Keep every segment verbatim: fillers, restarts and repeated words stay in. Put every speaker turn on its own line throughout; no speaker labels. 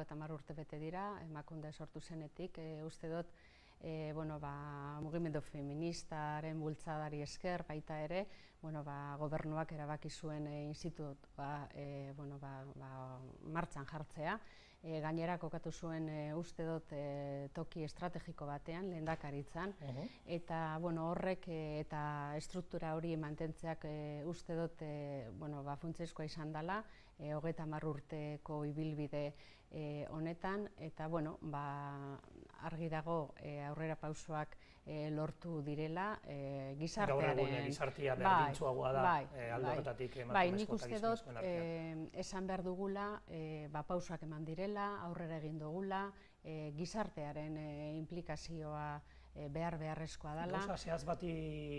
hogeita hamar urte bete dira, Emakunde sortu zenetik, e, uste dut, e, bueno, ba, mugimendu feministaren bultzadari esker baita ere, bueno, ba, gobernuak erabaki zuen e, institutua e, bueno, ba, ba, martxan jartzea. E, gainera kokatu zuen e, uste dut e, toki estrategiko batean, lehendakaritzan, uh-huh. eta bueno, horrek e, eta estruktura hori mantentzeak e, uste dut e, bueno, ba, funtsezkoa izan dela, e, hogeita hamar urteko ibilbide e, honetan, eta bueno, ba, argi dago e, aurrera pausoak e, lortu direla e, gizartearen...
Gaur egun gizartea berdintsuagoa da
bai,
e, alde horretatik
bai, bai, nik uste dut e, esan behar dugula e, ba, pausoak eman direla, aurrera egin dugula, e, gizartearen e, implikazioa e, behar beharrezkoa dela.
Gauza zehaz bati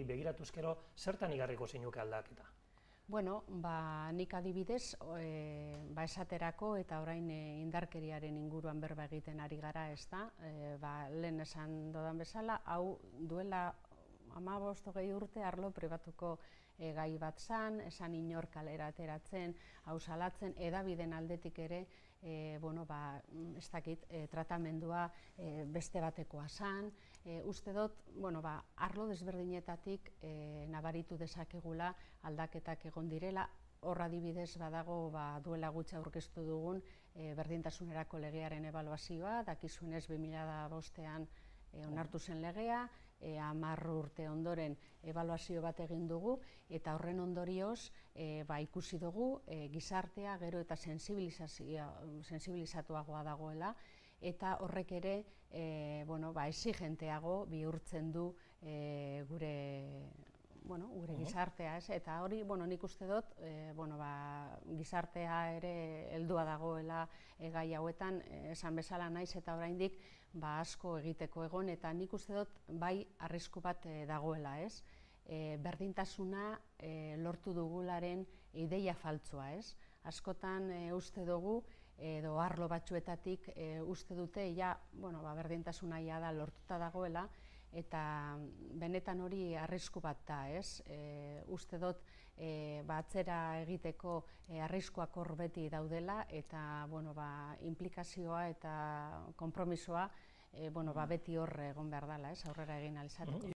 begiratuzkero, zertan igarriko zeinuke aldaketa?
Bueno, ba, nik adibidez, e, ba, esaterako eta orain e, indarkeriaren inguruan berba egiten ari gara, ez da, e, ba, lehen esan dodan bezala, hau duela hamabost hogei urte arlo pribatuko e, gai bat zan, esan inor kalera ateratzen, hau salatzen, edabiden aldetik ere, e, bueno, ba, ez dakit, e, tratamendua e, beste batekoa zan, e, uste dut, bueno, ba, arlo desberdinetatik e, nabaritu dezakegula aldaketak egon direla, hor adibidez badago ba, duela gutxi aurkeztu dugun e, berdintasunerako legearen ebaluazioa, dakizuenez bi mila bostean E, onartu zen legea, e, hamar urte ondoren ebaluazio bat egin dugu, eta horren ondorioz e, ba, ikusi dugu e, gizartea gero eta sensibilizatuagoa dagoela, eta horrek ere e, bueno, ba, exigenteago bihurtzen du e, gure... Bueno, gure gizartea, ez? Eta hori, bueno, nik uste dut, e, bueno, ba, gizartea ere heldua dagoela e, gai hauetan, e, esan bezala naiz eta oraindik ba, asko egiteko egon, eta nik uste dut bai arrisku bat e, dagoela, ez? E, berdintasuna e, lortu dugularen ideia faltsua, ez? Askotan e, uste dugu, edo arlo batzuetatik e, uste dute, ja, bueno, ba, berdintasuna ja da lortuta dagoela, eta benetan hori arrisku bat da, ez? E, uste dut e, ba, atzera egiteko e, arriskuak hor beti daudela, eta bueno, ba, implikazioa eta konpromisoa e, bueno, ba, beti hor egon behar dela, ez? Aurrera egin ahal izateko.